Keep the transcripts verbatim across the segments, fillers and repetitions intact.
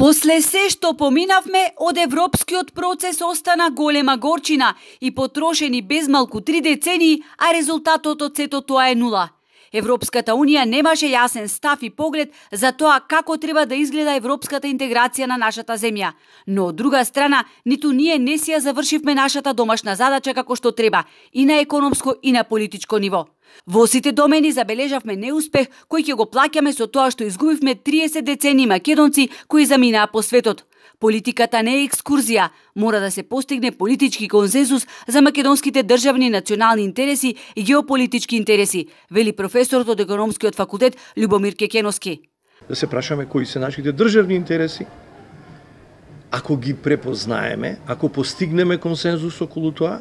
После се што поминавме, од европскиот процес остана голема горчина и потрошени безмалку три децении, а резултатот од сето тоа е нула. Европската Унија немаше јасен став и поглед за тоа како треба да изгледа европската интеграција на нашата земја. Но од друга страна, ниту ние не си ја завршивме нашата домашна задача како што треба, и на економско и на политичко ниво. Во сите домени забележавме неуспех кој ќе го плаќаме со тоа што изгубивме триесет децении македонци кои заминаа по светот. Политиката не е екскурзија, мора да се постигне политички консензус за македонските државни национални интереси и геополитички интереси, вели професорот од економскиот факултет Љубомир Кекеновски. Да се прашаме кои се нашите државни интереси, ако ги препознаеме, ако постигнеме консензус околу тоа,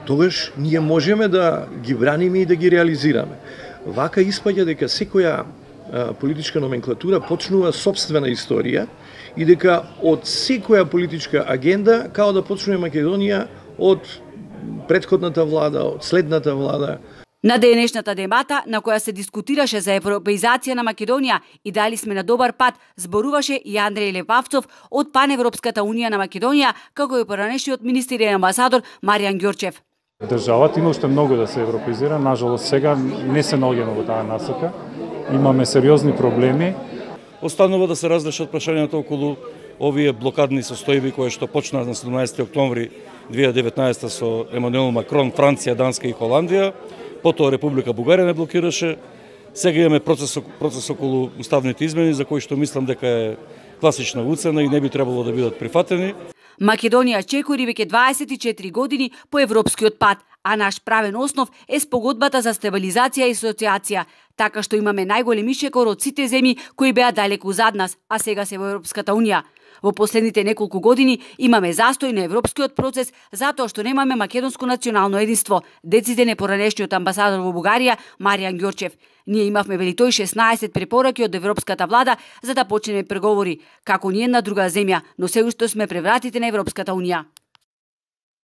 тогаш ние можеме да ги браниме и да ги реализираме. Вака испаѓа дека секоја а, политичка номенклатура почнува собствена историја и дека од секоја политичка агенда као да почнува Македонија од претходната влада, од следната влада. На денешната дебата, на која се дискутираше за европеизација на Македонија и дали сме на добар пат, зборуваше и Андреј Лепавцов од Паневропската унија на Македонија, како и поранешниот министер и амбасадор Маријан Ѓорчев. Државата има уште многу да се европеизира, нажалост сега не се наоѓаме во таа насока. Имаме сериозни проблеми. Останува да се разрешат прашањата околу овие блокадни состојби кои што почнаа на седумнаесети октомври две илјади и деветнаесета со Емануел Макрон, Франција, Данска и Холандија. Потоа Република Бугарија не блокираше. Сега имаме процес, процес околу уставните измени за кои што мислам дека е класична уцена и не би требало да бидат прифатени. Македонија чекори веќе дваесет и четири години по европскиот пат, а наш правен основ е спогодбата за стабилизација и асоциација, така што имаме најголеми шекор од сите земји кои беа далеку зад нас, а сега се во Европската Унија. Во последните неколку години имаме застој на европскиот процес затоа што немаме македонско национално единство, дециден е поранешниот амбасадор во Бугарија Маријан Ѓорчев. Ние имавме, вели тој, шеснаесет препораки од европската влада за да почнеме преговори, како ни една друга земја, но се уште сме превратите на Европската Унија.